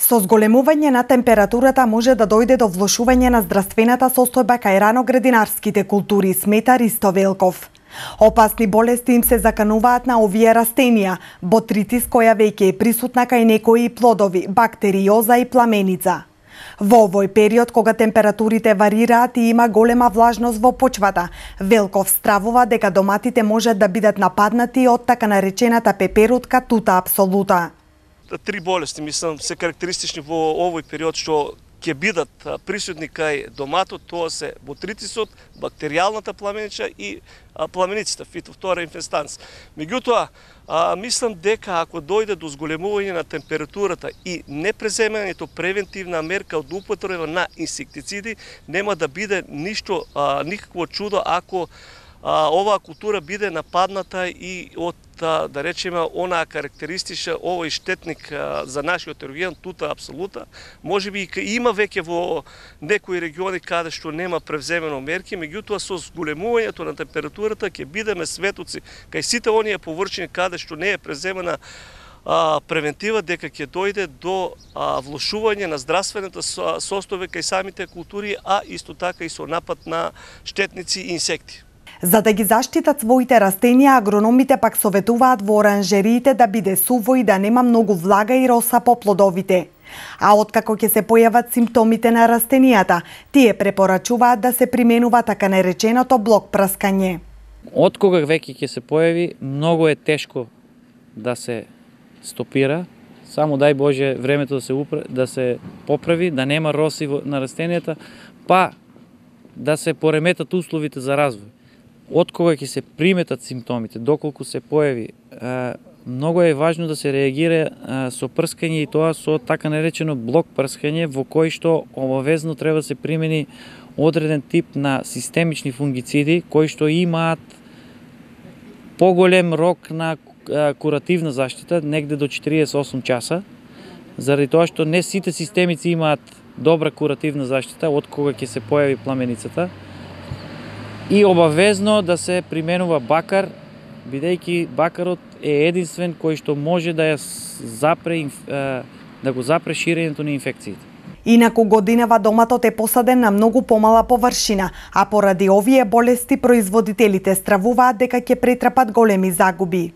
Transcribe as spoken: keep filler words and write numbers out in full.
Со зголемување на температурата може да дојде до влошување на здравствената состојба кај раноградинарските култури, смета Ристо Велков. Опасни болести им се закануваат на овие растенија, ботритис која веќе е присутна кај некои плодови, бактериоза и пламеница. Во овој период, кога температурите варираат и има голема влажност во почвата, Велков стравува дека доматите можат да бидат нападнати од така наречената пеперутка тута абсолута. Три болести, мислам, се карактеристични во овој период што ќе бидат присутни кај доматот, тоа се ботритисот, бактеријалната пламенича и пламеницата, фитофтора инфестанс. Меѓутоа, мислам дека ако дојде до зголемување на температурата и непреземањето превентивна мерка од употреба на инсектициди, нема да биде ништо, никакво чудо ако оваа култура биде нападната и од, да речеме, онаа карактеристична, овој штетник за нашиот регион, тута абсолута. Може би има веќе во некои региони каде што нема превземено мерки, меѓутоа со зголемувањето на температурата ќе бидеме светоци кај сите оние површини каде што не е преземена превентива, дека ќе дојде до влошување на здравствената состојба кај самите култури, а исто така и со напад на штетници и инсекти. За да ги заштитат своите растенија, агрономите пак советуваат во оранжериите да биде суво и да нема многу влага и роса по плодовите. А откако ќе се појават симптомите на растенијата, тие препорачуваат да се применува така нареченото блок прскање. Откога веќе ќе се појави, многу е тешко да се стопира. Само дај Боже времето да се упра, да се поправи, да нема роси на растенијата, па да се пореметат условите за развој. Откога ќе се приметат симптомите, доколку се појави, многу е важно да се реагира со прскање и тоа со така наречено блок прскање, во кој што обавезно треба да се примени одреден тип на системични фунгициди кои што имаат поголем рок на куративна заштита, негде до четириесет и осум часа, заради тоа што не сите системици имаат добра куративна заштита од кога ќе се појави пламеницата. И обавезно да се применува бакар, бидејќи бакарот е единствен кој што може да ја запре, да го запре ширењето на инфекциите. Инаку годинава доматот е посаден на многу помала површина, а поради овие болести производителите стравуваат дека ќе претрпат големи загуби.